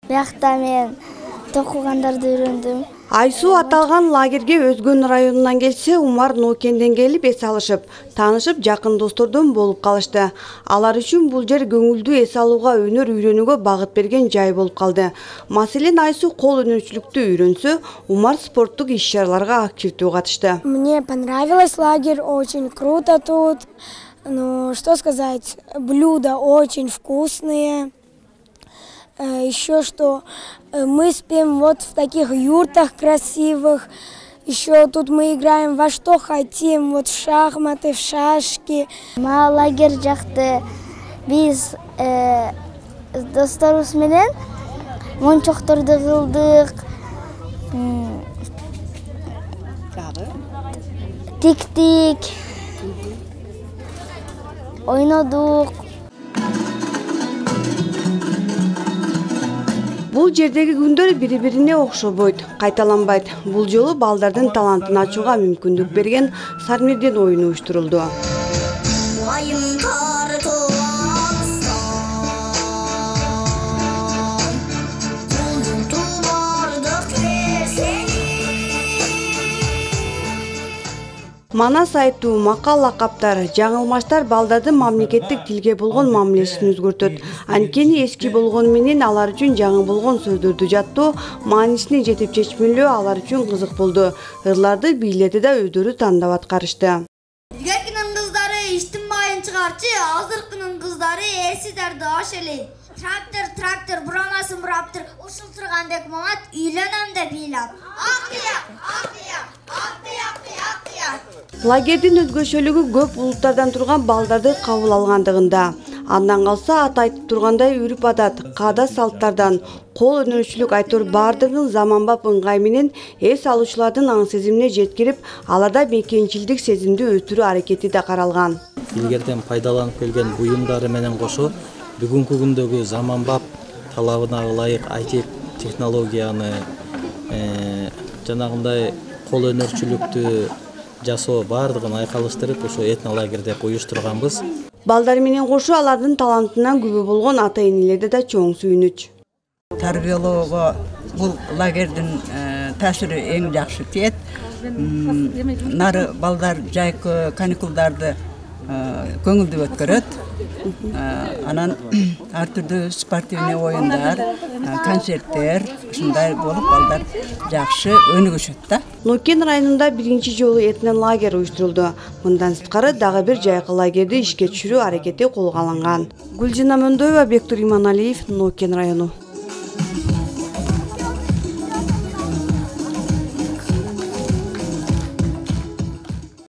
Биякта мен токугандарды үйрөндүм. Айсуу аталган лагерге Өзгөн районунан келсе, Умар Ноокенден келип эс алышып, таанышып, жакын достордон болуп калышты. Алар үчүн бул жер көңүлдүү эс алууга, өнөр үйрөнүүгө багыт берген жай болуп калды. Маселен, Айсуу кол өнөрчүлүктү үйрөнсө, Умар спорттук иш-чараларга активдүү катышты. Мне понравилось лагерь, очень круто тут. Ну, что сказать, блюда очень вкусные. Еще что мы спим вот в таких юртах красивых. Еще тут мы играем во что хотим, вот в шахматы, в шашки. Мага лагерь жакты. Биз досторубуз менен мончокторду кылдык. Тиктик. Ойнодук. Бул жердеги күндөр бири-бирине окшобойт, кайталанбайт. Бул жолу балдардын талантын ачууга мүмкүндүк берген Сармерден оюну уюштурулду. Манас айтуу, макал лакаптар, жаңылмаштар балдардын мамлекеттик тилге болгон мамилесин өзгөртөт. Анткени эски болгону менен алар үчүн жаңы болгон сөздөрдү жаттоо, маанисине жетип чечмелөө алар үчүн кызык болду. Ырларды бийлерди да өздөрү тандап аткарышты. Илгеркинин кыздары иштин майын чыгарчы, азыркынын кыздары эсидерди аш эле. Трактор, бурамасын бураптыр, ушул тургандек мамат үйлөнөм деп ыйлап. Лагердин өзгөчөлүгү көп улуттардан турган балдарды кабыл алгандыгында. Андан калса аты айтып тургандай үрүп адат, каада салттардан, кол өнөрчүлүк айтор бардыгын заманбап ыңгай менен эс алуучулардын аң сезимине жеткирип, аларда мекенчилдик сезимди өстүрүү аракети да каралган. Илгертен пайдаланып келген буюмдары менен кошо бүгүнкү күндөгү заманбап талабына ылайык IT технологияны, жанагындай кол өнөрчүлүктү жасоо бардыгын айкалыштырып, ошо этнолагерь деп уюштурганбыз. Балдар менен кошо алардын талантынан күбө болгон ата-энелерде да чоң сүйүнүч. Тарбиялоого бул лагердин таасири эң жакшы тиет. Нары балдар жайкы каникулдарды көңүлдүү өткөрөт. Анан ар түрдүү спортивный оюндар, концерттер ушундай болуп балдар жакшы өнүгүшөт да. Нокен районунда биринчи жолу этнолагерь уюштурулду. Мындан сырткары дагы бир жайкы лагерди ишке түшүрүү аракети колго алынган. Гүлжина Мөндоева, Бектур Иманалиев, Нокен району.